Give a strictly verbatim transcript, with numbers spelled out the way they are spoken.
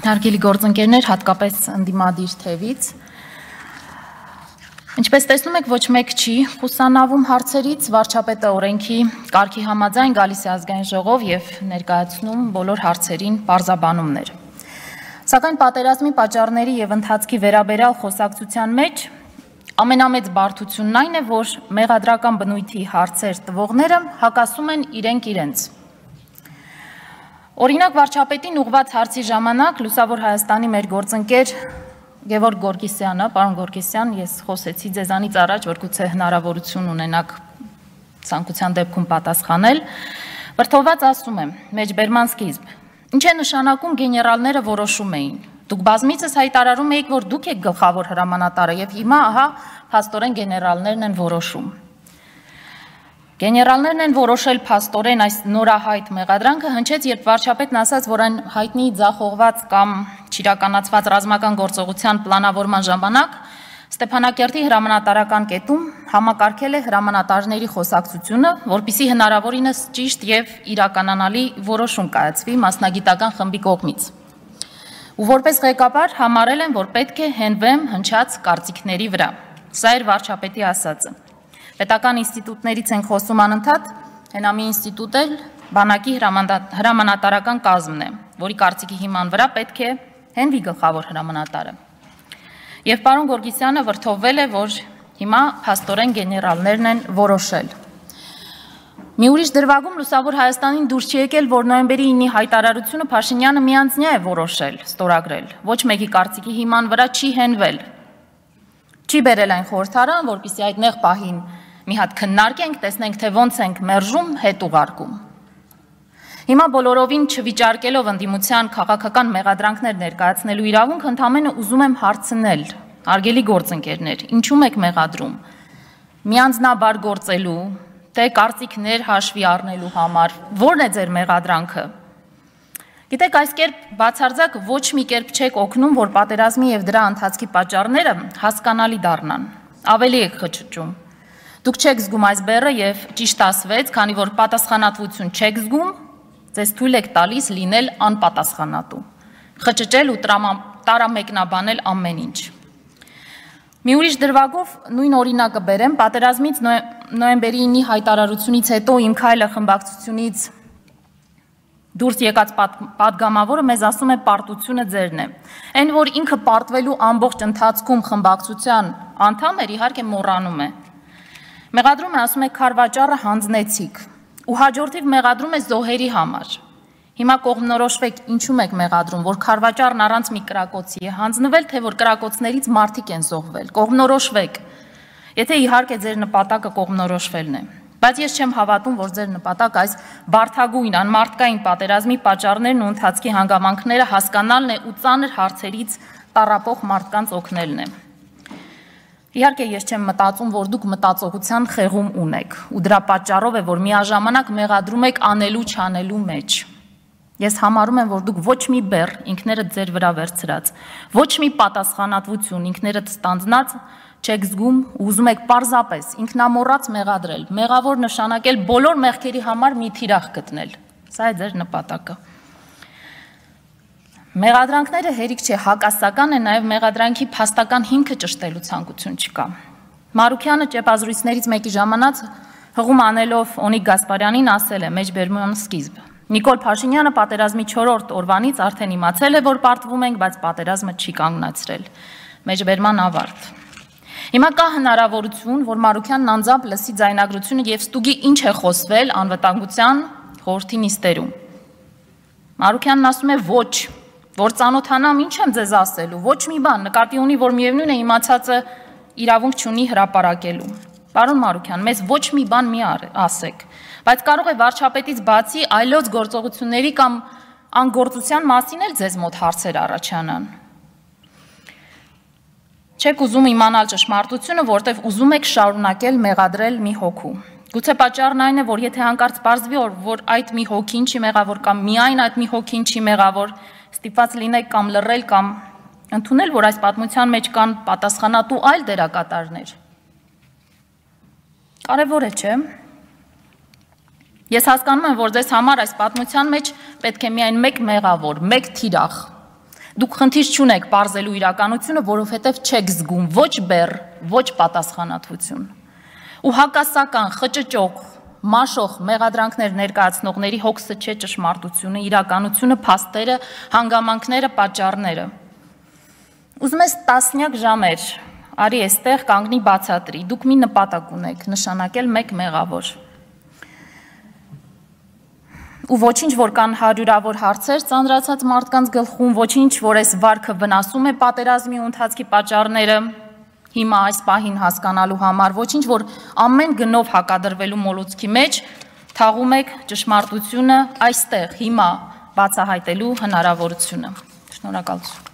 Հարգելի գործընկերներ, հատկապես ընդդիմադիր թևից։ Ինչպես տեսնում եք, ոչ մեկ չի խուսանավում հարցերից, վարչապետը օրենքի կարգի համաձայն գալիս է ազգային ժողով եւ ներկայացնում բոլոր հարցերին պարզաբանումներ։ Սակայն պատերազմի պատճառների եւ ընթացքի վերաբերյալ խոսակցության մեջ ամենամեծ բարդությունն այն է, որ մեղադրական բնույթի հարցեր տվողները հակասում են իրենք իրենց։ Օրինակ վարչապետին ուղղված հարցի ժամանակ Լուսավոր Հայաստանի մեր գործընկեր Գևորգ Գորգիսյանը, պարոն Գորգիսյան, ես խոսեցի ձեզանից առաջ, որ գուցե հնարավորություն ունենաք ցանկության դեպքում պատասխանել, վրդովված ասում եմ, մեջբերման սկիզբ, ինչ է նշանակում գեներալները որոշում էին։ Դուք բազմիցս հայտարարում եք, որ դուք եք գլխավոր հրամանատարը եւ հիմա ահա փաստորեն գեներալներն են որոշում։ Գեներալներն են որոշել փաստորեն այս նորահայտ մեղադրանքը հնչեց, երբ վարչապետն ասաց, որ այն հայտնի ձախողված կամ չիրականացված ռազմական գործողության պլանավորման ժամանակ Ստեփանակերտի հրամանատարական կետում համակարգել է հրամանատարների խոսակցությունը, որպեսզի հնարավորինս ճիշտ եւ իրականանալի որոշում կայացվի մասնագիտական խմբի կողմից։ Ու որպես ղեկավար համարել են, որ պետք է հենվեմ հնչած կարծիքների վրա։ Սա էր վարչապետի ասածը։ Պետական ինստիտուտներից ենք խոսում անընդհատ, հենամի ինստիտուտ էլ բանակի հրամանատարական կազմն է, որի կարծիքի հիման վրա պետք է հենվի գլխավոր հրամանատարը։ Եվ պարոն Գորգիսյանը վրդովվել է, որ հիմա փաստորեն գեներալներն են որոշել։ Մի ուրիշ դրվագում Լուսավոր Հայաստանին դուրս չի եկել, որ նոյեմբերի ինի հայտարարությունը Փաշինյանը միանձնյա է որոշել, ստորագրել, ոչ մեկի կարծիքի հիման վրա չի հենվել։ Չի բերել այն խորհրդարան, որպեսզի այդ նեղ պահին մի հատ քննարկենք, տեսնենք, թե ոնց ենք մերժում, հետ ուղարկում։ Հիմա բոլորովին չվիճարկելով ընդդիմության քաղաքական մեղադրանքներ ներկայացնելու իրավունք, ընդամենը ուզում եմ հարցնել, հարգելի գործընկերներ, ինչու եք մեղադրում։ Միանձնաբար գործելու, թե կարծիքներ հաշվի առնելու համար, ո՞րն է ձեր մեղադրանքը։ Գիտեք, այս կերպ բացարձակ ոչ մի կերպ չեք օգնում, որ պատերազմի եւ դրա ընթացքի պատճառները հասկանալի դառնան։ Ավելի եք խճճում։ Դուք չեք զգում այս բեռը եւ ճիշտ ասվեց, քանի որ պատասխանատվություն չեք զգում, ձեզ թույլ եք տալիս լինել անպատասխանատու, խճճել ու տարամեկնաբանել ամեն ինչ։ Մի ուրիշ դրվագով նույն օրինակը բերեմ, պատերազմից նոյեմբերի ինի հայտարարությունից հետո իմ քայլը խմբակցությունից դուրս եկած պատգամավորը մեզ ասում է պարտությունը ձերն է։ Այն, որ ինքը պարտվելու ամբողջ ընթացքում խմբակցության անդամ էր, իհարկե մոռանում է։ Մեղադրում է, ասում է, քարվաճառը հանձնեցիք ու հաջորդիվ մեղադրում է զոհերի համար։ Հիմա կողմնորոշվեք, ինչու եք մեղադրում, որ քարվաճառն առանց մի կրակոցի է հանձնվել, թե որ կրակոցներից մարդիկ են զոհվել։ Կողմնորոշվեք։ Եթե իհարկե ձեր նպատակը կողմնորոշվելն է։ Բայց ես չեմ հավատում, որ ձեր նպատակ այս բարդագույն անմարդկային պատերազմի պատճառներն ու ընթացքի հանգամանքները հասկանալն է ու ծանր հարցերից տառապող մարդկանց օգնելն է։ Իհարկե ես չեմ մտածում, որ դուք մտածողության խեղում ունեք, ու դրա պատճառով է, որ միաժամանակ մեղադրում եք անելու չանելու մեջ։ Ես համարում եմ, որ դուք ոչ մի բեռ ինքներդ ձեր վրա վերցրած, ոչ մի պատասխանատվություն ինքներդ ստանձնած չեք զգում ու ուզում եք պարզապես ինքնամոռաց մեղադրել, մեղավոր նշանակել բոլոր մեղքերի համար մի թիրախ գտնել։ Սա է ձեր նպատակը։ Մեղադրանքները հերիք չէ, հակասական է, նաև մեղադրանքի փաստական հիմքը ճշտելու ցանկություն չկա։ Մարուքյանը ճեպազրույցներից մեկի ժամանակ հղում անելով Օնիկ Գասպարյանին ասել է մեջբերման սկիզբ։ Նիկոլ Փաշինյանը պատերազմի չորրորդ օրվանից արդեն իմացել է, որ պարտվում ենք, բայց պատերազմը չի կանգնացրել։ Մեջբերման ավարտ։ Հիմա կա հնարավորություն, որ Մարուքյանն անձամբ լսի ձայնագրությունը եւ ստուգի ինչ է խոսվել անվտանգության խորհրդի նիստերում։ Մարուքյանն ասում է ոչ, որ ծանոթանամ, ինչ եմ ձեզ ասելու, ոչ մի բան, նկատի ունի, որ միևնույն է իմացածը իրավունք չունի հրապարակելու։ Պարոն Մարուքյան, մեզ ոչ մի բան մի ասեք, բայց կարող է վարչապետից բացի այլոց գործողությունների կամ անգործության մասին էլ ձեզ մոտ հարցեր առաջանան։ Չեք ուզում իմանալ ճշմարտությունը, որտեվ ուզում եք շարունակել մեղադրել մի հոգու։ Գուցե պատճառն այն է, որ եթե հանկարծ պարզվի, որ այդ մի հոգին չի մեղավոր կամ միայն այդ մի հոգին չի մեղավոր, ստիպված լինեք կամ լռել կամ ընդունել, որ այս պատմության մեջ կան պատասխանատու այլ դերակատարներ։ Կարևոր է, չէ՞։ Ես հասկանում եմ, որ ձեզ համար այս պատմության մեջ պետք է միայն մեկ մեղավոր, մեկ թիրախ, Դուք խնդիր չունեք պարզելու իրականությունը, որովհետև չեք զգում ոչ բեռ, ոչ պատասխանատվություն։ Ու հակասական, խճճող, մաշող մեղադրանքներ ներկայացնողների հոգսը չէ ճշմարտությունը, իրականությունը, փաստերը, հանգամանքները, պատճառները։ Ուզում ես տասնյակ ժամեր, արի էստեղ կանգնի բացատրի, դուք մի նպատակ ունեք, նշանակել մեկ մեղավոր։ Ու ոչինչ, որ կան հարյուրավոր հարցեր ծանրացած մարդկանց գլխում, ոչինչ, որ այս վարքը վնասում է պատերազմի ու ընթացքի պատճառները, հիմա այս պահին հասկանալու համար, ոչինչ, որ ամեն գնով հակադրվելու մոլուցքի մեջ թաղում եք ճշմարտությունը այստեղ, հիմա բացահայտելու հնարավորությունը։ Շնորհակալություն։